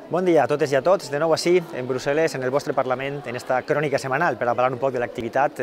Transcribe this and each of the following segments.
Bon dia a totes i a tots, de nou així, en Brussel·les, en el vostre Parlament, en esta crònica setmanal, per a parlar un poc de l'activitat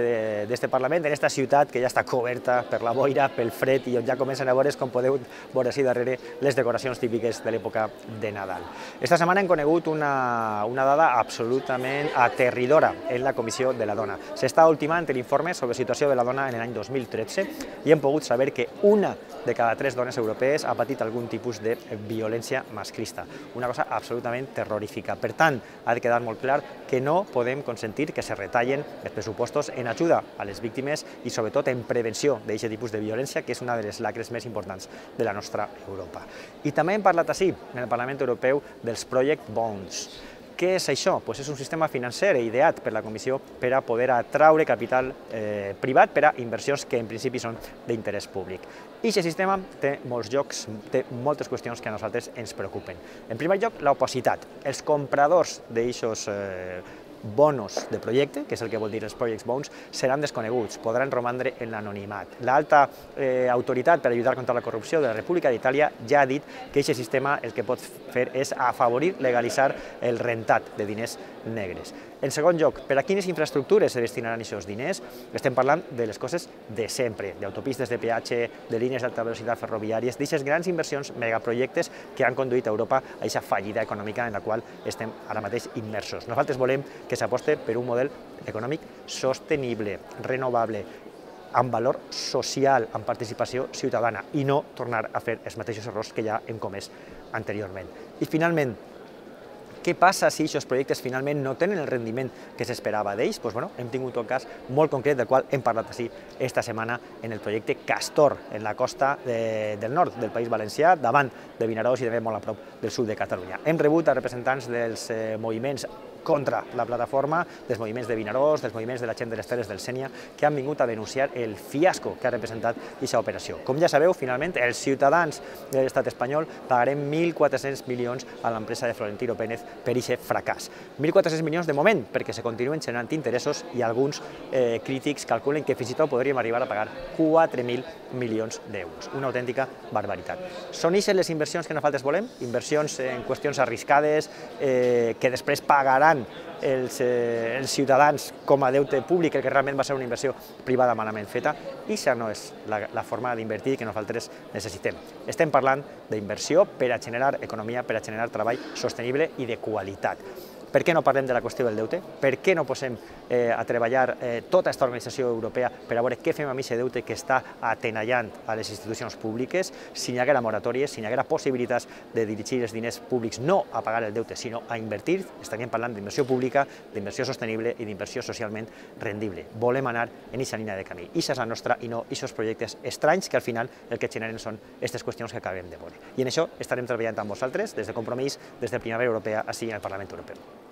d'este Parlament, en esta ciutat que ja està coberta per la boira, pel fred i on ja comencen a veure's, com podeu veure així darrere, les decoracions típiques de l'època de Nadal. Esta setmana hem conegut una dada absolutament aterridora en la Comissió de la Dona. S'està ultimant l'informe sobre la situació de la dona en l'any 2013 i hem pogut saber que una de cada 3 dones europees ha patit algun tipus de violència masclista. Una cosa absolutament terrorífica. Per tant, ha de quedar molt clar que no podem consentir que se retallen els pressupostos en ajuda a les víctimes i sobretot en prevenció d'aquest tipus de violència, que és una de les lacres més importants de la nostra Europa. I també hem parlat així, en el Parlament Europeu, dels Project Bonds. Què és això? És un sistema financer ideat per la Comissió per a poder atraure capital privat per a inversions que en principi són d'interès públic. I aquest sistema té molts llocs, té moltes qüestions que a nosaltres ens preocupen. En primer lloc, l'opacitat. Els compradors d'aquests bonos de projecte, que és el que vol dir els Project Bonds, seran desconeguts, podran romandre en l'anonimat. L'alta autoritat per lluitar contra la corrupció de la República d'Itàlia ja ha dit que aquest sistema el que pot fer és afavorir, legalitzar el rentat de diners negres. En segon lloc, per a quines infraestructures se destinaran aquests diners? Estem parlant de les coses de sempre, d'autopistes de peatge, de línies d'alta velocitat ferroviàries, d'aquestes grans inversions, megaprojectes que han conduït a Europa a aquesta fallida econòmica en la qual estem ara mateix immersos. Nosaltres volem que s'aposte per un model econòmic sostenible, renovable, amb valor social, amb participació ciutadana, i no tornar a fer els mateixos errors que ja hem comès anteriorment. I finalment, què passa si aquests projectes finalment no tenen el rendiment que s'esperava d'ells? Hem tingut un cas molt concret del qual hem parlat així esta setmana en el projecte Castor, en la costa del nord del País Valencià, davant de Vinaròs i també molt a prop del sud de Catalunya. Hem rebut a representants dels moviments contra la plataforma, dels moviments de Vinaròs, dels moviments de la gent de les Terres del Sénia, que han vingut a denunciar el fiasco que ha representat aquesta operació. Com ja sabeu, finalment, els ciutadans de l'estat espanyol pagarem 1.400 milions a l'empresa de Florentino Pérez per aquest fracàs. 1.400 milions de moment, perquè se continuen generant interessos i alguns crítics calculen que fins i tot podríem arribar a pagar 4.000 milions d'euros. Una autèntica barbaritat. Són aquestes les inversions que nosaltres volem? Inversions en qüestions arriscades que després pagaran els ciutadans com a deute públic, el que realment va ser una inversió privada malament feta, i això no és la forma d'invertir que nosaltres necessitem. Estem parlant d'inversió per a generar economia, per a generar treball sostenible i de qualitat. Per què no parlem de la qüestió del deute? Per què no posem a treballar tota aquesta organització europea per a veure què fem amb aquest deute que està atenallant a les institucions públiques? Si hi haguera moratòries, si hi haguera possibilitats de dirigir els diners públics no a pagar el deute, sinó a invertir, estaríem parlant d'inversió pública, d'inversió sostenible i d'inversió socialment rendible. Volem anar en aquesta línia de camí. Això és la nostra i no aquests projectes estranys que al final el que generen són aquestes qüestions que acabem de veure. I en això estarem treballant amb vosaltres des de Compromís, des de Primavera Europea, així en el Parlament Europeu.